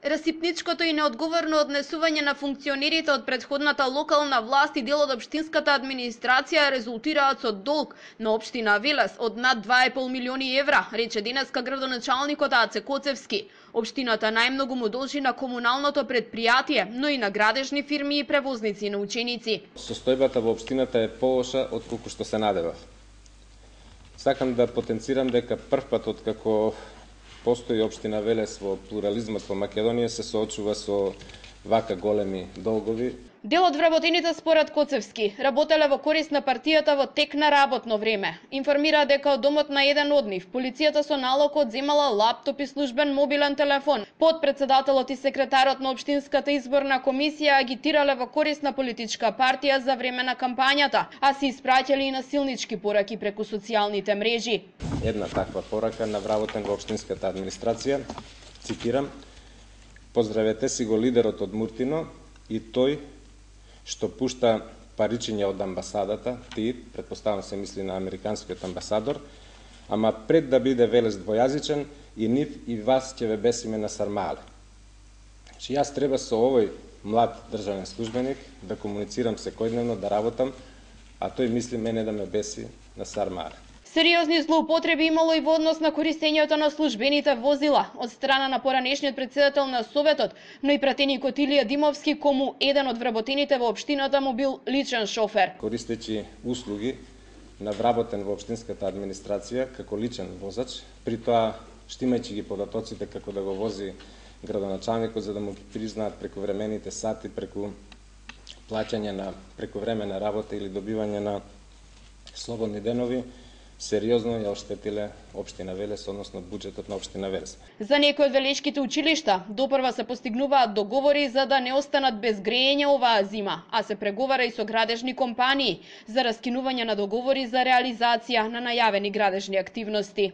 Расипничкото и неодговорно однесување на функционерите од претходната локална власт и дел од општинската администрација резултираат со долг на општина Велес од над 2,5 милиони евра, рече денеска градоначалникот Аце Коцевски. Општината најмногу му должи на комуналното предпријатие, но и на градежни фирми и превозници на ученици. Состојбата во општината е полоша од колку што се надевав. Сакам да потенцирам дека првпат откако постои општина Велес во плурализмот во Македонија се соочува со вака големи долгови. Дел од вработените според Коцевски работеле во корист на партијата во тек на работно време. Информира дека од домот на еден од нив полицијата со налог одземала лаптоп и службен мобилен телефон. Подпредседателот и секретарот на општинската изборна комисија агитирале во корист на политичка партија за време на кампањата, а се испраќале и насилнички пораки преку социјалните мрежи. Една таква порака на вработен во општинската администрација, цитирам: "Поздравете си го лидерот од Муртино и тој што пушта паричиња од амбасадата, ти, предпоставам се мисли на американскиот амбасадор, ама пред да биде Велес двојазичен, и нив и вас ќе ве бесиме на сармале." Значи, јас треба со овој млад државен службеник да комуницирам секојдневно, да работам, а тој мисли мене да ме беси на сармале. Сериозни злоупотреби имало и во однос на користењето на службените возила од страна на поранешниот председател на Советот, но и пратеникот Илија Димовски, кому еден од вработените во општината му бил личен шофер. Користејќи услуги на вработен во општинската администрација како личен возач, при тоа штимајќи ги податоците како да го вози градоначалникот за да му ги признаат прековремените сати преку плаќање на прековремена работа или добивање на слободни денови, сериозно ја оштетиле општина Велес, односно буџетот на општина Велес. За некои од велешките училишта допрва се постигнуваат договори за да не останат без грејење оваа зима, а се преговара и со градежни компании за раскинување на договори за реализација на најавени градежни активности.